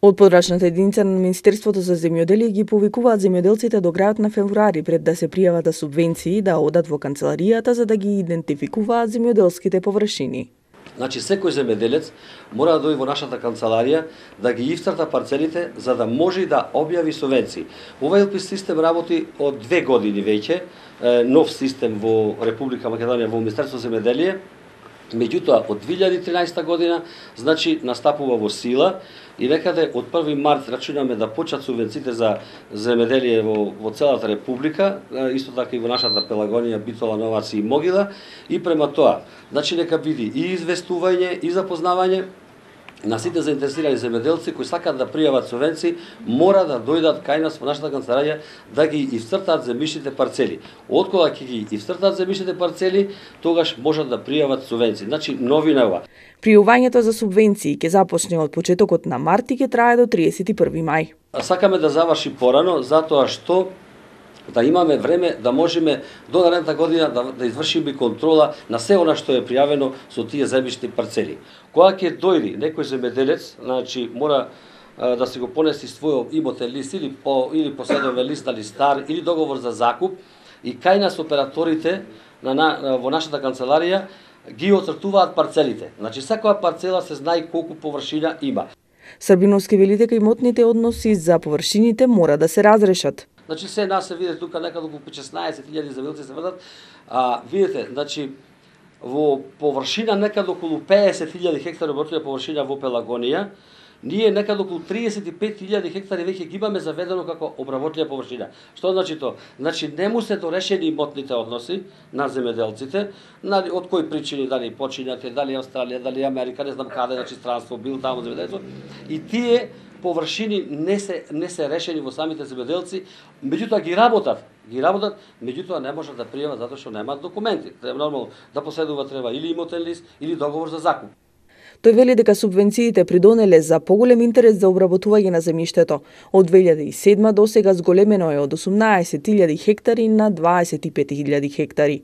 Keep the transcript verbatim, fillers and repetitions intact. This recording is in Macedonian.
Од подрачната единица на Министерството за земјоделие ги повикуваат земјоделците до крајот на февруари пред да се пријават за субвенции да одат во канцеларијата за да ги идентификуваат земјоделските површини. Значи, секој земјоделец мора да дојде во нашата канцеларија да ги ифцрта парцелите за да може да објави субвенции. Овој ел пи систем работи од две години веќе, нов систем во Република Македонија во Министерството за земјоделие. Меѓутоа, од две илјади и тринаесетта година, значи, настапува во сила и некаде од први март рачунаме да почнат субвенциите за земјоделие во, во целата Република, исто така и во нашата Пелагонија, Битола, Новаци и Могила, и према тоа, значи, нека биде и известување, и запознавање на сите заинтересирани земјоделци кои сакаат да пријават субвенции, мора да дојдат кај нас во нашата канцеларија да ги ивцртаат земјишните парцели. Откога ќе ги ивцртаат земјишните парцели, тогаш можат да пријават субвенции. Значи, новина ова. Пријувањето за субвенции ќе започне од почетокот на март и ќе трае до триесет и први мај. Сакаме да заврши порано, затоа што да имаме време да можеме до наредната година да, да извршиме контрола на се она што е пријавено со тие земјишни парцели. Кога ќе дојде некој земјоделец, значи мора а, да се го понеси својот имотен лист или по или поседовен лист или стар или договор за закуп и кај нас операторите на, на во нашата канцеларија ги оцртуваат парцелите. Значи секоја парцела се знае колку површина има. Србиновски вели дека имотните односи за површините мора да се разрешат. Значи се нас се види тука некаде околу шеснаесет илјади земјоделци се врдат. А видите, значи во површина некаде околу пеесет илјади хектари обработена површина во Пелагонија, ние некаде околу триесет и пет илјади хектари веќе ги имаме заведено како обработена површина. Што значи тоа? Значи не му се дорешени имотните односи на земјоделците, нали од кои причини, дали починати, дали Австралија, дали Америка, не знам каде, значи странство бил таму земјоделцот. И тие површини не се не се решени во самите земјоделци, меѓутоа ги работат, ги работат, меѓутоа не можат да пријават затоа што немаат документи. Треба нормално да поседува треба или имотен лист или договор за закуп. Тој вели дека субвенциите придонеле за поголем интерес за обработување на земјиштето. Од две илјади и седма до сега зголемено е од осумнаесет илјади хектари на дваесет и пет илјади хектари.